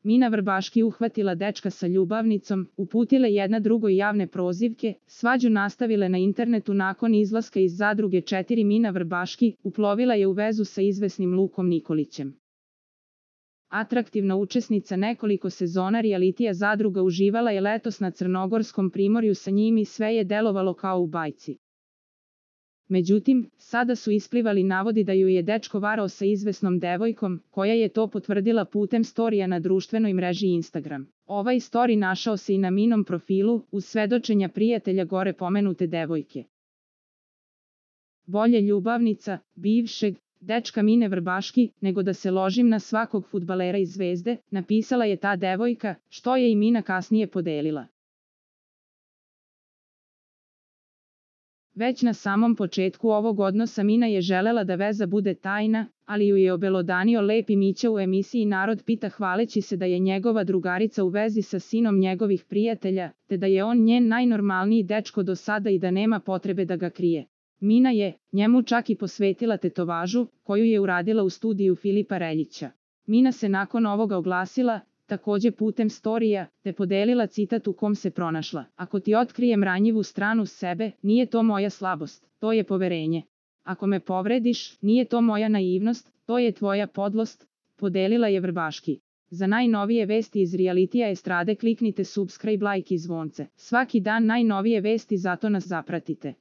Mina Vrbaški uhvatila dečka sa ljubavnicom, uputile jedna drugoj javne prozivke, svađu nastavile na internetu nakon izlaska iz zadruge 4. Mina Vrbaški uplovila je u vezu sa izvesnim Lukom Nikolićem. Atraktivna učesnica nekoliko sezona realitija Zadruga uživala je letos na crnogorskom primorju sa njim i sve je delovalo kao u bajci. Međutim, sada su isplivali navodi da ju je dečko varao sa izvesnom devojkom, koja je to potvrdila putem storija na društvenoj mreži Instagram. Ovaj story našao se i na Minom profilu, uz svedočenja prijatelja gore pomenute devojke. Bolje ljubavnica, bivšeg, dečka Mine Vrbaški, nego da se ložim na svakog fudbalera iz Zvezde, napisala je ta devojka, što je i Mina kasnije podelila. Već na samom početku ovog odnosa Mina je želela da veza bude tajna, ali ju je obelodanio lepi Mića u emisiji Narod pita hvaleći se da je njegova drugarica u vezi sa sinom njegovih prijatelja, te da je on njen najnormalniji dečko do sada i da nema potrebe da ga krije. Mina je njemu čak i posvetila tetovažu, koju je uradila u studiju Filipa Reljića. Mina se nakon ovoga oglasila, takođe putem storija, te podelila citat u kom se pronašla. Ako ti otkrijem ranjivu stranu sebe, nije to moja slabost, to je poverenje. Ako me povrediš, nije to moja naivnost, to je tvoja podlost, podelila je Vrbaški. Za najnovije vesti iz realitija estrade kliknite subscribe, like i zvonce. Svaki dan najnovije vesti, zato nas zapratite.